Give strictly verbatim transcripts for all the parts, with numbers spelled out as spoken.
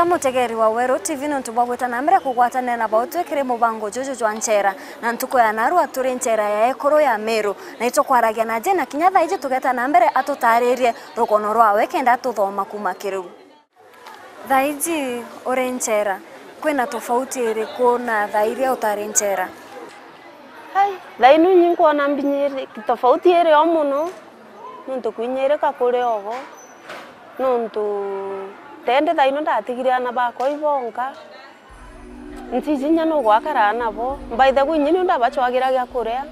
Ka mutegeri wa Weru T V niuntu bwa gwita na mbere kugwatanira na bautwi kiri mubango juju jwa nchera. Na ntuku ya narua turi nchera ya ekuru ya Meru, na itukwaragia na Jane, na kinya thaa iji tugeta na mbere atutaririe rugono rwawe kenda tuthoma kuma kiriu. Thaa iji uri nchera, kwina tofauti iriku na thaa iria utari nchera? Ai, thaa ino inyi nkwona mbinyiri-, tofauti iri o mono, nontu kwinyirika kuri ogo, nontu tendi thaa ino ndatigire aana bakwa ibonka, ntiji inya nugwakara nabo. By the way, inyi niu ndabacwagira gia kuria,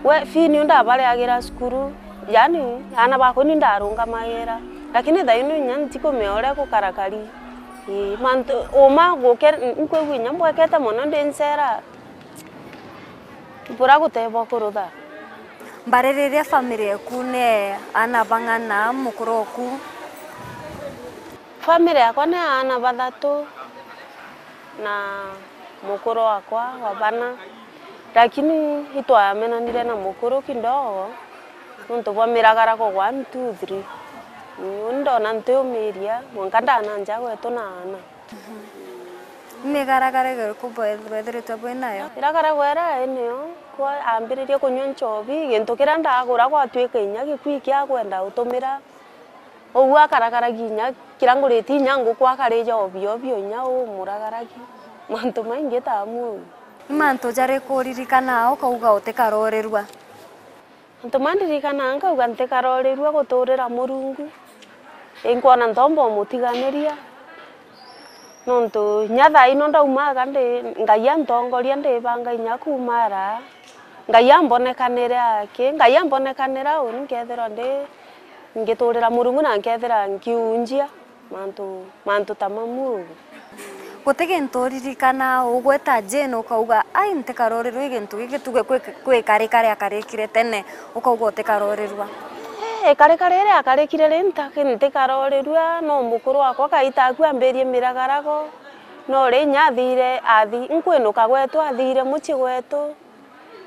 we fee niu ndabariagira cukuru, yani aana bakwa ni ndarungamagira, lakini thaa ino inya ntikumea uria gukarakari. Ii, mantu uma guke-, nkwigua inya mbwekete mono ndi nchera. Bura gutebwa kurutha. Mbaririria family eku ni aana bang'ana, mukuru oku? Family yakwa ni aana bathatu na mukuru wakwa wa bana, lakini itwamenanire na mukuru kidogo nontu bwa miragarago one, two, three. Uni ndona ntiumiria mwanka ndananja gwetu na aana. Migaragara iriku bwe-, bwethiritwe bwi nayo? Iragaragwa ira ai niyo, kwa ambiririe kunyua nchobi, gintu kiria ndagura gwatwika inya gikui kia kwenda utumira. Uu akaragaragia inya kiria ngurite inya nguku akarija obio obio inya umuragaragia. Mantu maingi ta amwe uu. Ni mantu jariku uririkanaga ukauga utikarorirua? Antu mandirikanaga nkauga, "Ntikarorirua guturira Murungu, inkwona ntomba umutiganiria." Nontu inya thaa ino ndaumaga ndi, Ngai antongoria, ndibanga inya kuuma ara. Ngai ambonekanire aki, Ngai ambonekanira uni nkethirwa ndi, ngiturira Murungu na nkethira nkiunjia. Mantu, mantu ta mamu ugu. Guti gintu uririkana ugweta Jane ukauga, "Ai, ntikarorirua i gintu giki tuge kwi, kwi karika riakarikire tene," ukauga utikarorirua? Ii, karika riria akarikire ri nta-, ntikarorirua, no mukuru wakwa kaita aku ambirie miragarago, no ri inya athire, athi-, nkwinuka gwetu, athire mucii gwetu,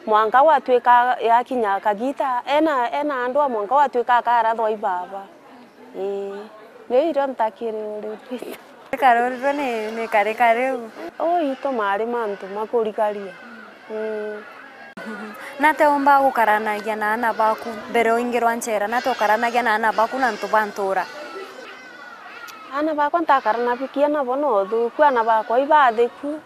mwanka gwatwika yakinya kagita, ena, ena andu a mwanka gwatwika akarathwa i baba. Ii, riu irio ntakiri uri Rita. Karorirwe ni, ni kari kariu. Uu itu mari mantu ma kurikaria. Ii. Nate umba gukaranagia na aana baku mbere uingirwa nchera? Nate ukaranagia na aana baku na antu ba ntura? Aana bakwa ntakaranagia nabo na uthuku, aana bakwa ibathiku.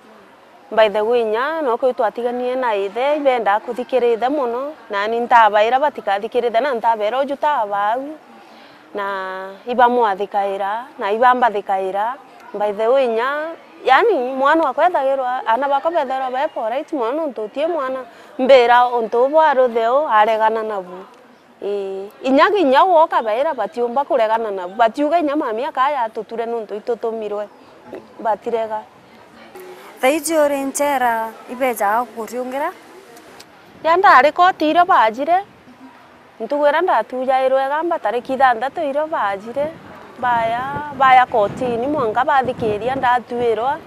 By the way, inya nokwi twatiganire na ithe, ibendaa kuthikira ithe mono, nani ntabaira batikathikira ithe, na ntabeera uju tabau, na ibamwathikaira, na ibambathikaira. By the way, inya, yani, mwana wakwa ethagirwa, aana bakwa bethagirwa be polite mono, nontu uti mwana mbira untu ubu arutheu aregana nabu. Ii, inya, inya woka baira batiumba kuregana nabu, batiuga inya mami akaya atuture nontu itutumirwe, batirega. Thaiji uri nchera, ibejaga kukuriungira? Ria ndari koti irio bajire, ntugu iria ndatujairwe igamba tariki ithanthatu irio bajire, baya, baya kotini mwanka bathikiria ndatuirwa.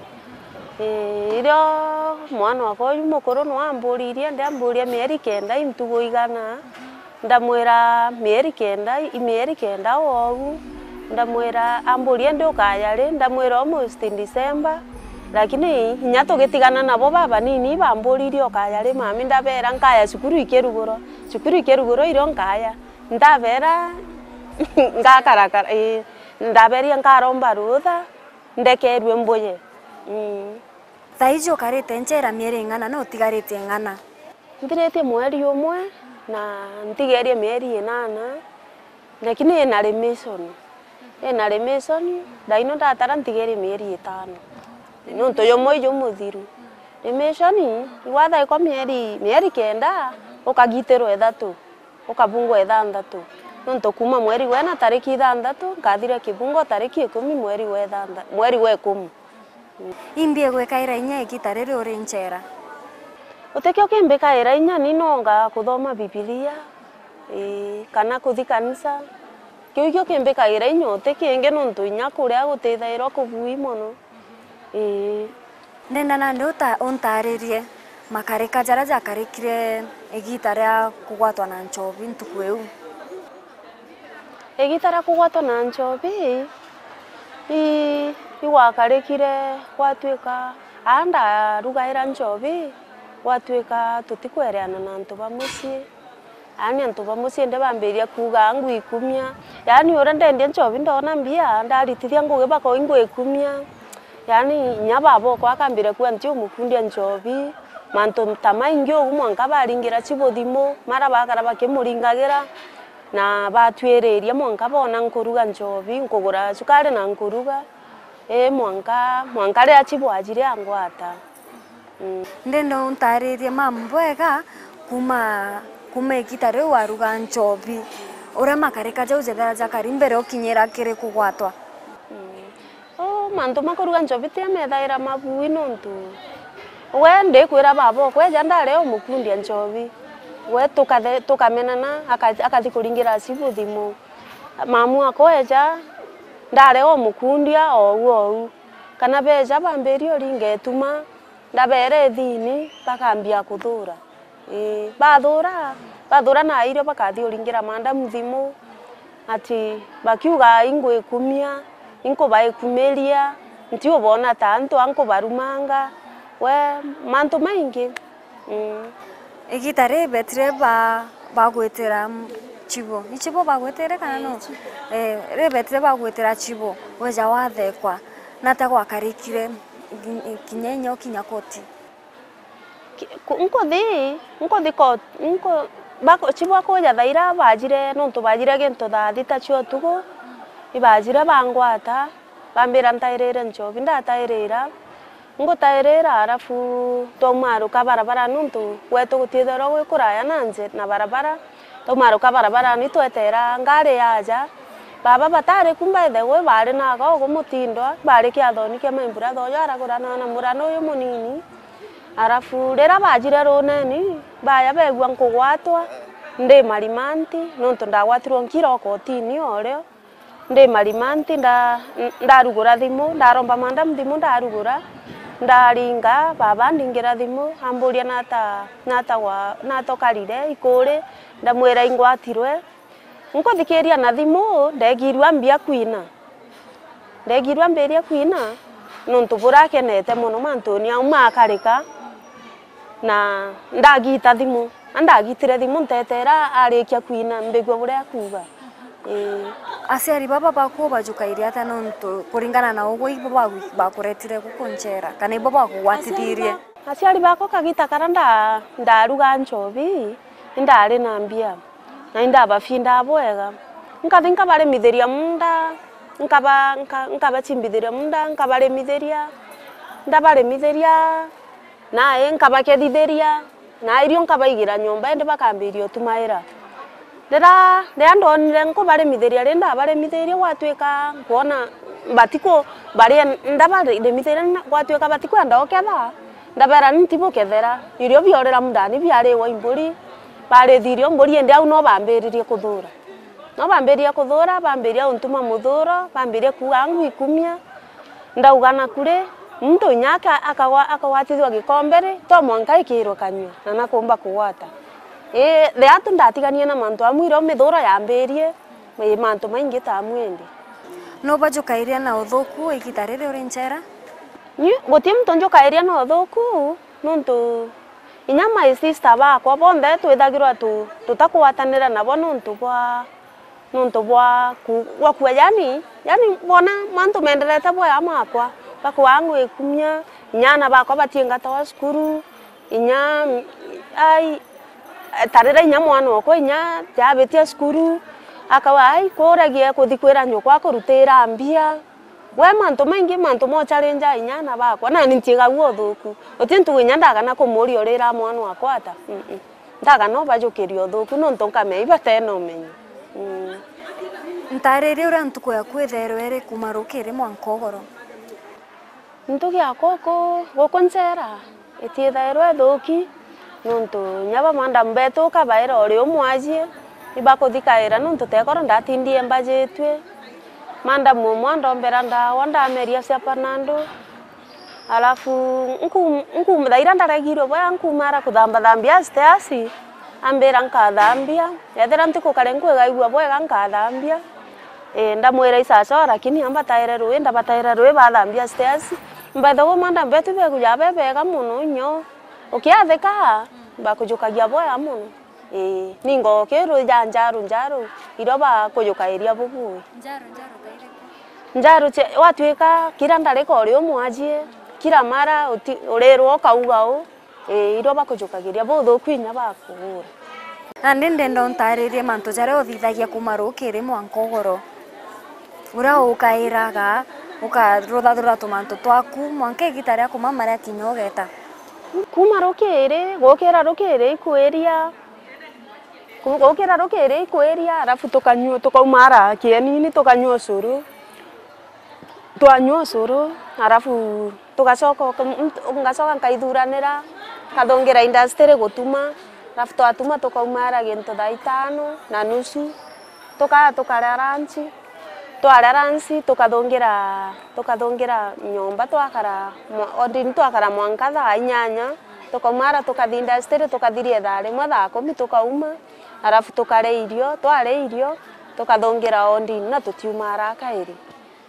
Ii, irio mwana wakwa uyu mukuru nwamburirie, ndiamburia mieri kenda i ntugu igana. Ndamwira mieri kenda, i mieri kenda ou. Ndamwira, amburia ndi ukaya ri? Ndamwira almost December. Lakini inya tugitigana nabo babanini, bamburirie ukaya ri mami? Ndabera nkaya cukuru ikirugurwa, cukuru ikirugurwa irio nkaya. Ndabera ngakarakara, ii, ndaberia nkaromba rutha, ndekerue mbuye. Mm. Thaiji ukarite nchera mieri ing'ana na utigarite ing'ana? Nthiritie mweri umwe na ntigerie mieri inana, lakini ina remission. Ina remission, thaino ndatara ntigerie mieri itano. Nontu jumwe jumuthiru. Remission, igwathaikwa mieri, mieri kenda, ukagitirwa ithatu. Ukabungwa ithanthatu. Nontu kuuma mweri wa ina tariki ithanthatu, nkathira kibungo tariki ikumi mweri wa ithantha-, mweri wa ikumi. Imbi igwikaira inya igita riri uri nchera? Gutikio kimbikaira inya, ni nonga kuthoma Bibilia, ii, kana kuthi kanisa. Kiu ikio kimbikaira inya, uti kingi, nontu inya kuria gutithairwa kubui mono. Ii. Ndenda nandi uta-, untaririe makarika jaria jakarikire igita ria kugwatwa na nchobi ntuku iu. Igita ria kugwatwa na nchobi, i, Igwakarikire gwatuika aa ndarugaira nchobi, gwatuika tutikwereana na antu ba mucii. Yaani antu ba mucii indi bambiria kuuga ngwikumia. Yaani uria ndendia nchobi ndona mbia, ndaritithia ngugi bakauga ingwikumia. Yaani inya babokwa akambire kuuga nti umukundia nchobi. Mantu ta maingi ugu mwanka baringira Chibu thimu, mara bakara bakimuringagira, na batwiriria mwanka boona nkuruga nchobi, nkugura cukari na nkuruga. Ii, mwanka, mwanka riria Chibu ajire angwata. Mm. Ndenda untaaririe mambo bwega kuma, kuma igita riu waruga nchobi. Uria makarika jau jethera jakari mbere ukinyira kiri kugwatwa. Mm. Uu, mantu ma kuruga nchobi ti amethaira mabui nontu we ndikwira baba okwa eja ndari umukundia nchobi. We tukathe-, tukamenana, aka-, akathi kuringira Chibu thimu. Mamu akwa eja, ndari umukundia ou ou. Kana beja bambirie uringa ituma, ndabeera ithini, bakambia kuthura. Ii, bathura, bathura na irio bakathi uringira mandamu thimu, ati bakiuga ingwikumia, inkubaikumiria, nti ubona ta antu a nkubarumanga, we, mantu maingi. Mm. Igita ribetire ba-, bagwitira m-, Chibu. Ni Chibu bagwitire kana no? Ii, Chibu. Eh, ribetire bagwitira Chibu, weja wathekwa. Nata gwakarikire, ngi-, kinya inya ukinya koti? Ki-, ku-, nkuthi, nkuthi ko-, nku-, bako-, Chibu akuja thaira bajire, nontu bajire gintu thaa thita cia utuku, ibajire bangwata, bambira ntairire nchobi, ndatairira, ngutairira, arafu twaumaruka barabara, nontu gwetu gutiithirwa gwi kuraya na nje-, na barabara, twaumaruka barabarani, twetera ngari yaja, baba batari ku, by the way, bari na aga ugu mutindwa, bari kiathoni kia maimbura thojo aragurana na murana uyu munini. Arafu riria bajire runeni, baya beegua nkugwatwa, ndi marimanti, nontu ndagwatirwe nkira o kotini o rio. Ndi marimanti, nda-, ndarugura thimu, ndaromba mandamu thimu, ndarugura, ndaringa, baba andingira thimu, amburia nata, nata gwa-, nata ukarire ikuri, ndamwira ingwatirwe. Nkuthikiria na thimu, ndegirua mbia kwina. Ndegirua mbiria kwina, nontu burakenete mono mantuni au makarika, na ndagita thimu. Na ndagitire thimu, ntetera arikia kwina, mbigua buria akuuga. Ii. Aciari baba baku ubajukairie atia, nontu kuringana na ugwe ibo bagu-, bakuretire guku nchera, kana ibo bagugwatithirie? Aciari bakwa kagita karia nda-, ndaruga nchobi, indari na mbia, na indabafindaa bwega. Nkathi nkabaremithiria munda, nkaba-, nka-, nkabachimbithiria munda, nkabaremithiria, ndabaremithiria, nae nkabakethithiria, na irio nkabaigira nyomba, indi bakambiria utumaira. Riria, riria ndonire nkubaremithiria, riria ndabaremithirie, gwatuika nkwona batiku-, barie-, ndabaremithiria, na gwatuika batikwenda uketha, ndabeera, "Ni ntibukethera, irio biorira mundani biariwa i mburi." Barithirie mburi, indi au no bambiririe kuthura. No bambiririe kuthura, bambiria untuma muthuro, bambiria kuuga ngwikumia. Ndauga, "Naku ri, muntu inya aka-, akagwa-, akagwatithua gikombe ri, to mwanka ikirwe kanyua, na nakumba kugwata." Ii, the atu ndatiganie na mantu amwe irio mithuro yambirie, ii, mantu maingi ta amwe indi. No bajukairia na uthuku igita riri uri nchera? Ni guti muntu njukairia na uthuku, nontu inya my sister bakwa bonthe twithagirwa tu-, tutakwatanira nabo nontu bwa nontu bwa ku-, gwa kua, yani, yani, bona mantu menderete bwega makwa, bakua ngwikumia, inya ana bakwa batiingatawa cukuru, inya, ai, tarira inya mwana okwa inya jabitia cukuru, akauga, "Ai, kuragia kuthi kwira nyukwa kurutira mbia." We mantu maingi, mantu mocharinja inya ana bakwa, nani ntiigagua uthuku. Uti ntugu inya ndagana kumuria urira mwana wakwa ata. Mm-mm. Ndaga no bajukirie uthuku, nontu nkamenya ibatena umenyo. Mm. Ntaaririe uria ntuku yaku ithairwe iri kuma rukiri mwanka ugoro. Ntuku yakwa uku, guku nchera, itiithairwe ithuki, nontu inya ba madam betu ukabaira uri umwe ajie, ibakuthikaira nontu tekoro ndatindie mbajitue. Madam umwe andombera ndawa, ndameria cia Panadol. Alafu nku-, nku-, thaira ndaregirwe bwega, nkumara kuthambathambia stairs, ambira nkathambia, ethira ntiku kare nkwigaigua bwega nkathambia. Ii, ndamwira, "Isacho, lakini ambataire rui, ndabataire rui, bathambia stairs." By the way, madam betu bekuja be bega mono inyo. Ukiathika, bakujukagia bwega mono. Ii, ningo kiru ja njaru, njaru, irio bakujukairia bubui. Njaru, njaru ta iriku? Njaru cia, watwika kira ndarika uri umwajie, kira mara uti-, urirwa ukauga u, ii, irio bakujukagiria buthuku inya bakugura. Nandi ndenda untaririe mantu jaria uthithagia kuma rukiri mwanka ugoro. Uria ukairaga, ukaruthathura tumantu twaku, mwanka igita ria kumama riakinya ugeta. Kuma rukiri, gukira rukiri ikwiria, Ku-, gukira rukiri ikwiria, arafu tukanyua, tukauma ara kienini, tukanyua ucuru. Twanyua ucuru, arafu tugacoka, uka-, nt-, ngacoka nkaithuranira, nkathungira industry gutuma, arafu twatuma tukauma ara gintu thaa itano na nusu, tukaa tukaria lunch. Twaria lunch, tukathungira, tukathungira nyomba, twakara mwa-, odini twakara mwanka thaa inyanya, tukauma ara tukathi industry, tukathiria thaa rimwe, thaa kumi tukauma, arafu tukaria irio, twaria irio, tukathungira odini na tutiuma ara kairi.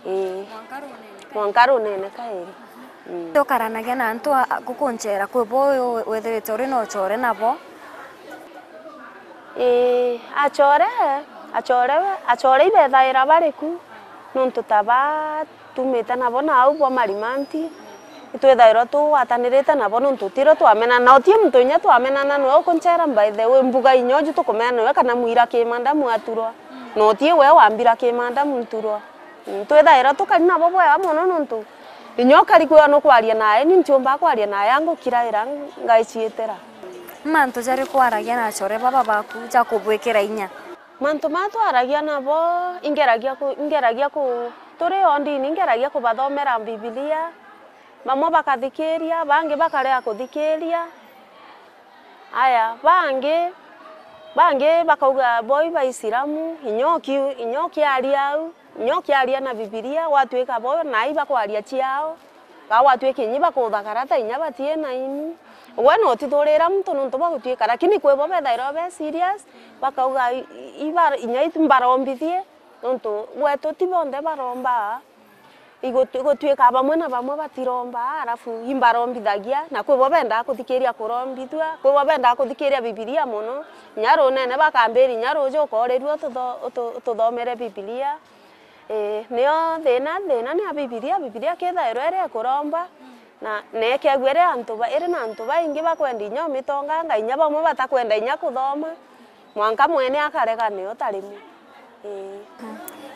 Ii. Mwanka runene kairi. Mwanka runene kairi. Mm. Tukaranagia na antu a, a, guku nchera, kwi bo wi-, withirite uri na uchore nabo? Ii, achore, achore, achore ibethaira bari ku, nontu ta ba tumite nabo nau bwa Marimanti, itwithairwa tugwatanirite nabo nontu tirio twamenana, na uti muntu inya twamenana nwe ukunchera by the way, mbuga inya uju tukumena nwe kana mwira kimanda mwaturwa, na uti we wambira kimanda mturwa. Mm, twithairwa tukari nabo bwega mono nontu inya ukari kwithirwa nukwaria nae, ni ntiumbaa kwaria nae, angukiraira ngaiciitira. Mantu jariku waragia na achore baba baku jakubwikira inya? Mantu maa twaragia nabo, ingeragia ku-, ingeragia ku-, turi o ndini, ingeragia kubathomera Bibilia, bamwe bakathikiria, bangi bakarega kuthikiria. Aya, bangi, bangi bakauga bo i Baisilamu, inya uki-, inya ukiaria au, inya ukiaria na Bibilia, gwatwika bo nai bakwaria ciao, ka gwatwika inya ibakuthakara ta inya batii na ini. Gwe no utithurira muntu nontu bwa gutwika, lakini kwi bo bethairwa be serious, bakauga i-, i-, iba-, inya itu mbarombithie, nontu gwetu ti bonthe barombaa. Igutu-, igutwika bamwe na bamwe batiromba, arafu imbarombithagia, na kwi bo bendaa kuthikiria kurombithua, kwi bo bendaa kuthikiria Bibilia mono, inya runene bakambiria, inya ruju ukoorirua ututho-, utu-, ututhomere Bibilia. Ii, nio thina, thina ni ya Bibilia, Bibilia kithairwa iri ikuromba, na, na ikegua iri antu ba-, iri na antu baingi bakwenda inya umitonganga, inya bamwe batakwenda inya kuthoma. Mwanka mwene akarega nio tarimi. Ii.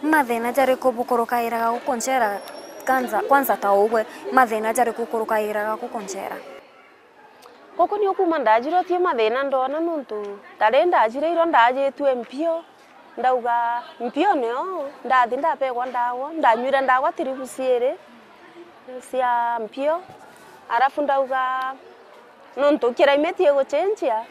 Mathina jariku bukurukairaga guku nchera kanza, kwanza ta ugwe, mathina jariku ukurukairaga guku nchera? Guku nio kuma ndajirwe ti mathina ndona nontu tari ndajire irio ndajitue mpio, ndauga mpio nio, ndathi ndapegwa ndawa, ndanywire ndawa tiribu ciiri cia mpio, arafu ndauga, nontu climate igucenjia,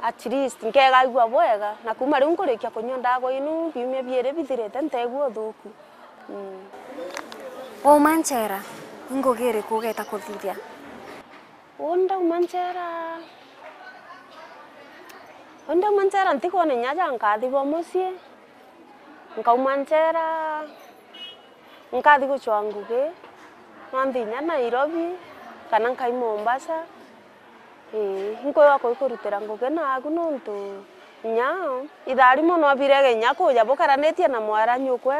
at least nkegaigua bwega, na kuma riu nkurikia kunyua ndawa inu biumia biiri bithirite nteigua uthuku. Mm. Wauma nchera, i ngugi iriku ugeeta kuthithia? Uu ndauma nchera, uu ndauma nchera ntikwona inya ja nkathi bwa mucii. Nkauma nchera, nkathi gucwa ngugi, no nthi inya Nairobi, kana nkai Mombasa. Ii, inkwigua kuikurutira ngugi naaku nontu inya ithaa rimwe no birege inya kuja bukaranitie na mwaranyukwe,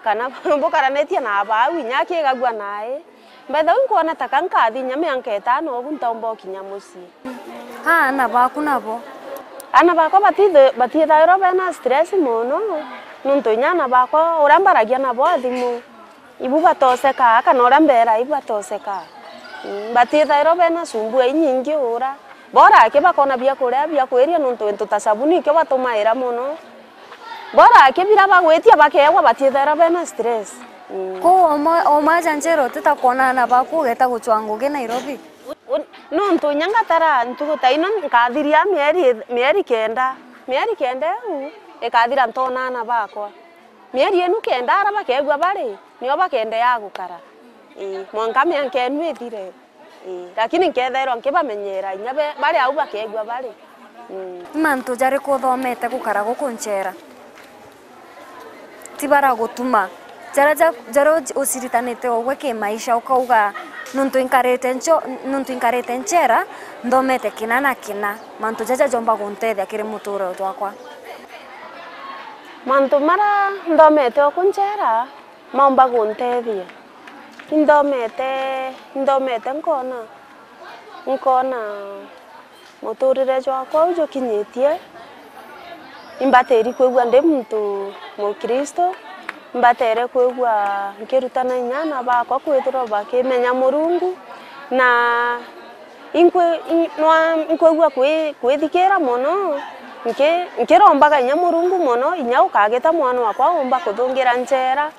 kana bukaranitie na abau inya akigagua nae. By the way, nkwona ta ka nkathi inya mianka itano ugu ntaumba ukinya mucii. Aana baku nabo? Aana bakwa batithe-, batithairwa bena stress mono, nontu inya aana bakwa uria mbaragia nabo a thimu, ibu batosekaa, kana uria mbera ibu batosekaa. Mm, batithairwa bena sumbua inyingi ura. Bora aki bakona bia kuria, bia kwiria, nontu into ta sabuni ikio batumaira mono. Bora aki bira bagwitia bakeegwa batithaira bena stress. Mm. Kou oma, oma janjero utita kwona aana baku ugeta gucwa ngugi Nairobi? U-, nontu inya ngatara ntugu ta ino nkathiria mieri, mieri kenda. Mieri kenda iu ikathira ntoona aana bakwa. Mieri inu kenda ara bakeegua bari, nio bakeendeea gukara. Ii, mwanka mianka inu ithire. Ii, lakini nkeethairwa nkibamenyeera inya be, bari au bakeegua bari. Mm. Ni mantu jariku uthomete gukara guku nchera? Ti bara gutuma. Jaria ja-, jaria uci-, uciritanite ugwe kimaisha, ukauga, "Nuntu inkarite ncho-, nuntu inkarite nchera, nthomete kina na kina. Mantu jaja jomba guntethia kiri muturire jwakwa." Mantu maria nthomete oku nchera, maumba guntethia. Inthomete, inthomete nkona, nkona muturire jwakwa u jukinyitie, imbatiri kwigua ndi muntu mukristo, imbatere kwigua nkirutana inya aana bakwa kwithirwa bakimenya Murungu, na inkwi-, in-, nwa-, inkwigua kwi-, kwithikira mono, nki-, nkirombaga inya Murungu mono, inya ukagita mwana wakwa umba kuthungira nchera.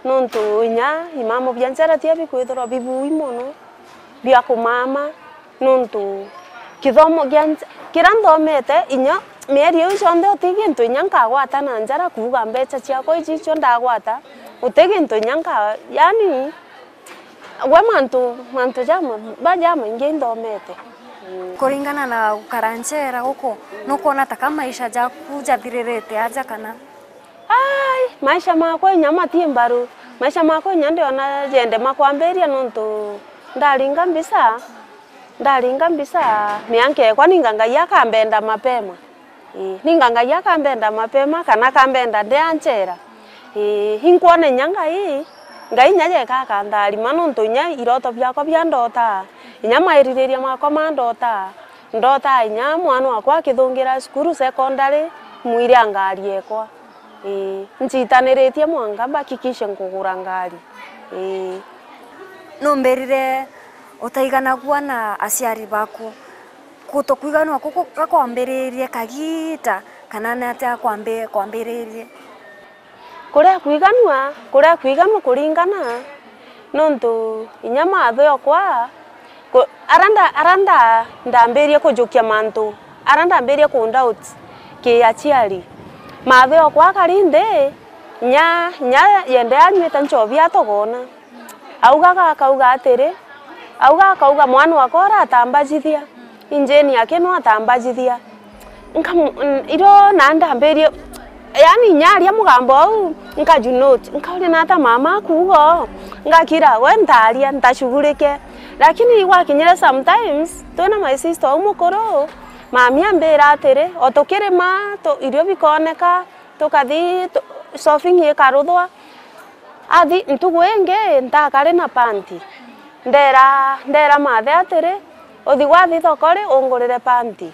Nontu inya imamo bia nchera tia bikwithirwa bibui mono, bia kumama, nontu kithomo gia nche-, kiria nthomete, inya mieri iu yonthe uti gintu inya nkagwata na njara kuuga mbecha ciakwa iji icio ndagwata, uti gintu inya nka-, yaani, gwe mantu, mantu jama-, ba jamaingi inthomete. Kuringana na gukara nchera guku, nukwona ta ka maisha jaku jathiririte aja kana? Ai, maisha makwa inya mati mbaru. Maisha makwa inya ndiona jende makwambiria nontu ndaringa mbisa, ndaringa mbisa, mianka ekwa ninga Ngai akambenda mapema. Ii, ninga Ngai akambenda mapema kana akambenda ndi a nchera. Ii, inkwona inya Ngai, Ngai inya jeka akantharima nontu inya iroto biakwa bia ndota, inya maiririria makwa ma ndota, ndota inya mwana wakwa akithungira cukuru secondary, mwire a ngari ekwa. Ii, nchitaniritie mwanka mbakikishe nkugura ngari. Ii. Numbirire utaiganagua na aciari baku? Guto kwiganua kuku gakwambiririe kagiita, kana ni atia kwambi-, kwambiririe? Kuria kwiganua, kuria kwiganua kuringana, nontu inya maatho okwa, ku-, ara nda-, ara nda-, ndambirie kujukia mantu, ara ndambirie ku doubt ki aciari. Maatho okwa akari nthi, inya, inya yende anyuite nchobi atogona. Augaga, akauga atiri, auga, akauga, "Mwana wakwa uratambajithia, injini aki no atambajithia." Nkamu-, n-, irio na ndambirie, yaani, inya aria mugambo au, nkaju note, nkauria, "Nata mama akuuga uu?" Ngakira, "We ntaaria, ntashugurike." Lakini gwakinyire sometimes, twina my sister uu mukuru, mami ambira atiri, o tukirima, tu-, irio bikooneka, tukathi tu-, shopping ikaruthwa. Athi ntugu ingi ntakari na panti. Ndera, ndera mathe atiri, "Uthi gwathi thoko ri, ungurire panti."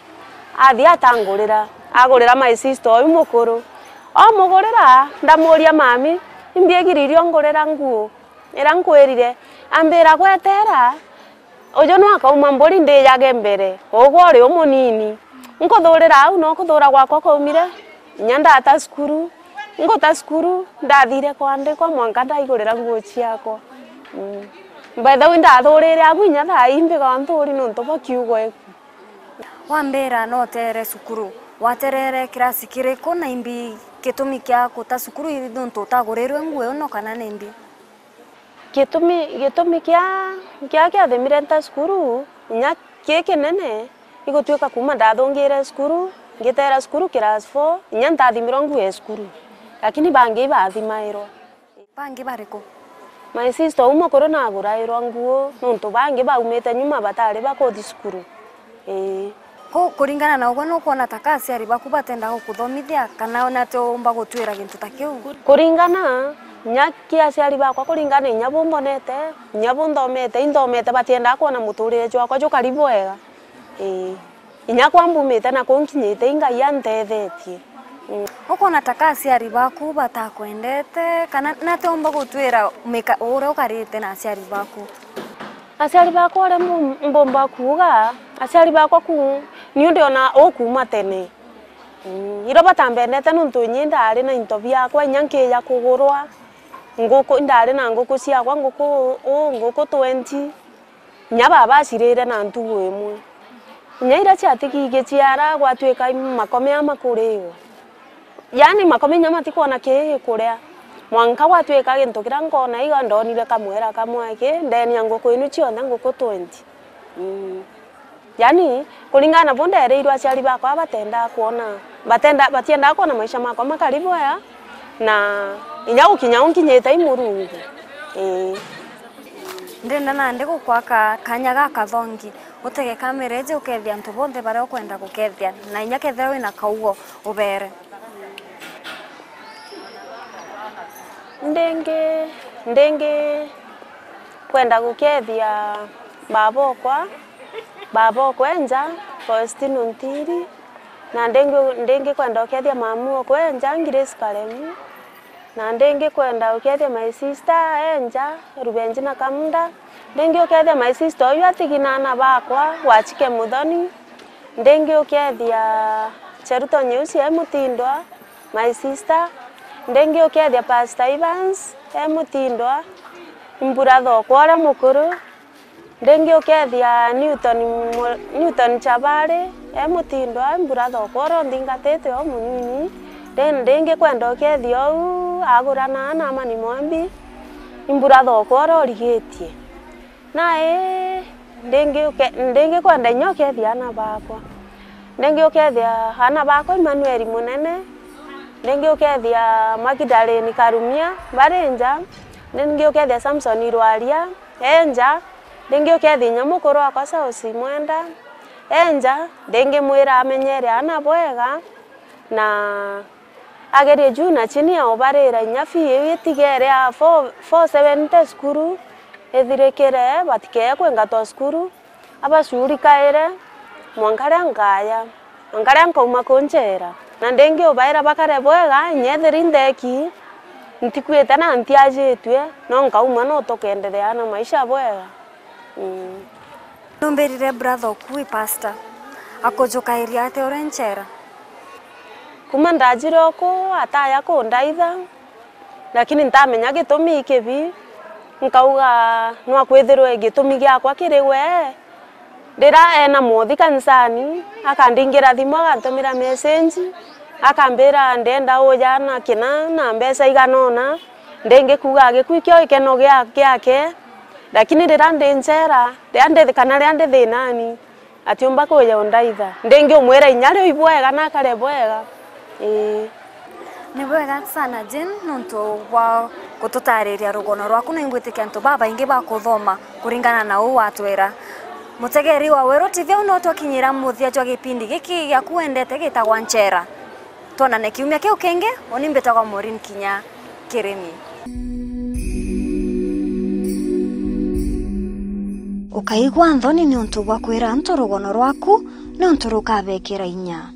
Athi atangurira, agurira my sister uyu mukuru. Omugurira, ndamuria, "Mami, imbi igiri irio ungurira nguo?" Ira nkwirire, ambira, "Gwetera, uju no akauma mburi ndijage mbere, ugwe uri umunini." Nkuthurira au no kuthura gwakwa kwaumire, inya ndata cukuru. Nguta cukuru, ndathire kwandikwa mwanka ndaigurira nguo ciakwa. Mm. By the way, ndathurire agu inya thaa ii mbiga nthuri nontu bwa kiugo eku. Wambira no utere cukuru, waterere kirasi kiriku na imbi gitumi kia guta cukuru nontu utagurirwe nguo ino kana ni imbi? Gitumi, gitumi kia, kia kiathimire nta cukuru, inya ki kinene, igutwika kuuma ndathungire cukuru, ngitera cukuru class four, inya ntathimirwa nguo ya cukuru. Lakini bangi ibathimairwa. Bangi bariku? My sister umwe kuru nagurairwa nguo, nontu bangi baumite nyuma batari bakuthi cukuru. Ii. Ku-, kuringana na ugwe, nukwona ta ka aciari baku batenda gukuthomithia, kana ona ti umba gutwira gintu ta kiu? Kuringana, inya ki aciari bakwa, kuringana inya bu mbonete, inya bu nthomete, inthomete batiendaa kwona muturire jwakwa jukari bwega. Ii. Inya kwa mbumite na ku nkinyite, i Ngai antethetie. Mm. Ukwona ta ka aciari baku batakwendete, kana nati umba gutwira mika-, uria ukarite na aciari baku? Aciari bakwa uria mbu-, mbumba kuuga, aciari bakwa ku, niu ndiona ukuuma tene. Mm, irio batambendete nontu inyi ndari na into biakwa, inya nkija kugurwa nguku, indari na nguku ciakwa, nguku, uu, nguku twenty. Inya baba acirire na ntugu imwe. Inya iria ciatigi igiciara, gwatwika makome ama kuriwa. Yaani makome inya matikwona kii gikuria. Mwanka gwatwika gintu kiria nkona iga ndonire kamwera kamwe ki, ndenia nguku inu cionthe, nguku twenty. Mm. Yaani, kuringana na bu ndereirwe aciari bakwa batenda kwona, batenda, batiendaa kwona maisha makwa makari bwega, Na inya gukinya u nkinyite i Murungu. Ii. Ndenda nandi gukwaka kanya gakathongi, utege kamera iji ukethia antu bonthe baria ukwenda gukethia, na inya kethira wina kaugo ubere. Ndingi, ndingi kwenda gukethia baba okwa, baba okwa enja, Faustino Ntiri, na ndingi, ndingi kwenda ukethia mamu okwa enja, Grace Karemu, na ndingi kwenda ukethia my sister enja, Rubenjina Kamunda, ndingi ukethia my sister uyu atigi na ana bakwa, Wachike Muthoni, ndingi ukethia Cheruto Nyeusi e Mutindwa, my sister, ndingi ukethia Pastor Evans e Mutindwa, i brother okwa uria mukuru, ndingi ukethia Newton Mu-, Newton Chabari e Mutindwa, i brother okwa uria unthingatite o munini, then ndingi kwenda ukethia uu agurana na Amani Mwambi, i brother okwa uria urigitie. Nai ndingi uke-, ndingi kwenda inya ukethia ana bakwa. Ndingi ukethia ana bakwa Emmanuel Munene, ndingi ukethia Magdalene Karumia bari nja, ndingi ukethia Samson Irwaria e nja, ndingi ukethia inya mukuru wakwa Sausi Mwenda e nja, ndingi mwira amenyere ana bwega na agerie juu na chini ya ubarira inya fee iu itigere a four, four seventy cukuru ithirikire, batikee kwingatwa cukuru, abacurikaire mwanka ria nkaya, mwanka ria nkauma ku nchera. Na ndingi ubaira bakare bwega, inya ethiri ntheki, ntikwite na ntiajitue, no nkauma no tukenderea na maisha bwega. Mm. Numbirire brother oku wi pastor, akujukairia atia uri nchera? Kuma ndajire oku, ataya kundaitha, lakini ntamenya gitumi ikibi. Nkauga, nwa kwithirwe gitumi giakwa kiri we. Riria ena mothi kanisani, akandingira thimu, agantumira message, akambira, ndenda uja na kina na mbeca igana una, ndingi kuuga gikui kio gikeno gia-, giake, lakini riria ndi nchera, riria ndi, kana riria ndi thinani, atiumba kuja undaitha. Ndingi umwira inya riu ibwega na akare bwega. Ii. Ni bwega sana, Jane, nontu bwa gututariria rugono rwaku, na ingwitikia antu babaingi bakuthoma kuringana na uu watwira. Mutegeri wa Weru T V, au no twakinyira muthia jwa gipindi giki giaku wendete gitagwa Nchera. Twonane kiumia kiu kingi, uni mbitagwa Maureen Kinya Kirimi. Ukaigua nthoni niuntu bwa kwira antu rugono rwaku, niuntu rukabekira inya.